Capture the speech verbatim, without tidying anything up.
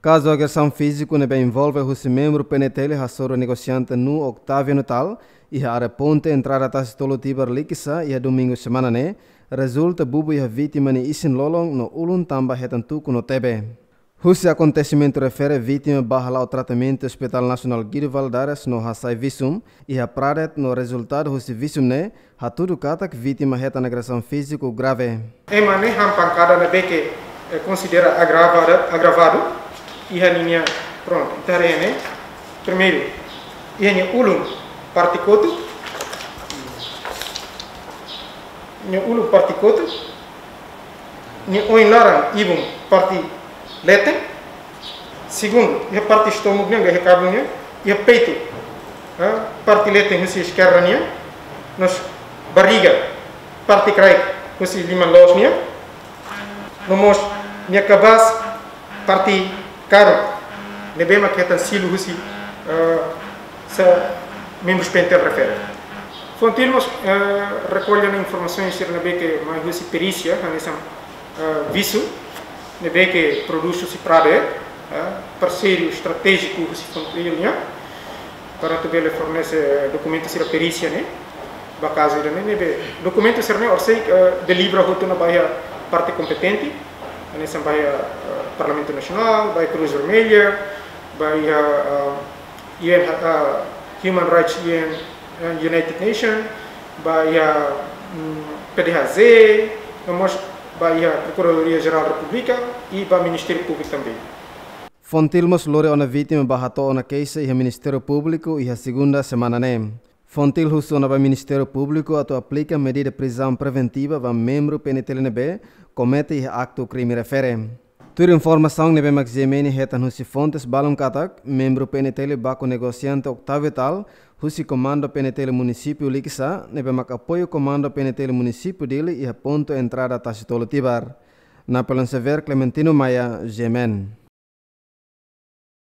Kazu agresaun fíziku ne'ebé envolve husi membru P N T L hasoru negosiante Nu Octaviano Tal iha área ponte entrada Tasi Tolu Tibar Likisá iha domingu semana ne'e, rezulta bubu iha vítima nia isin-lolon no ulun tanba hetan tuku no tebe. Husi akontesimentu refere, vítima bá hala'o tratamentu Hospital Nasionál Guido Valadares no hasai visum iha Pradet no rezultadu husi visum ne'e hatudu katak vítima hetan agresaun fíziku grave. Ema ne'e han pankada ne'ebé ke, eh, konsidera agravada, agravadu, iha ninia, prontu, ita haree ne'e, primeiru, iha nia ulun parte kotuk, nia ulun parte kotuk, nia oin laran ibun parte leten. Segundu, iha parte estómagu nian, iha kabun nian, iha peitu, ha, parte leten husi eskerda nian, no mós barriga, parte kraik husi liman-loos nian, no mós nia kabaas parte karuk, ne'ebé mak hetan silu husi, eh, sa membru P N T L refere. Fontil mós, eh, rekolla ona informasaun sira ne'ebé ke mai husi perísia, hanesan, eh, visum ne'ebé ke prodús husi Pradet, eh, parseiru estratéjiku husi Fontil nian, para atu bele fornese dokumentu sira perísia ne'e ba kazu ida-ne'e, ne'ebé dokumentu sira-ne'e orsida, eh, delibera hotu ona ba iha parte kompetente, hanesan ba iha, eh, Parlamentu Nasionál, ba iha Cruz Vermelha, ba iha, eh, U N, eh, Human Rights U N, eh, United Nations, ba iha, mm, P D H Z, no mós ba iha Prokuradoria Jerál Repúblika i ba Ministériu Públiku tanba. Fontil mós lori ona vítima ba hato'o ona keixa iha Ministériu Públiku iha segunda semana ne'e. Fontil husu ona ba Ministériu Públiku atu aplika medida prizaun preventiva ba membru P N T L ne'ebé komete iha aktu krime refere. Tuir informasaun ne'ebé mak G M N hetan husi fontes balun katak, membru P N T L baku negosiante Octavio Tal, husi Komandu P N T L Munisípiu Likisá, ne'ebé mak apoiu Komandu P N T L Munisípiu Dili iha pontu entrada Tasi Tolu Tibar. Napoleon Xavier, Clementino Maia, G M N.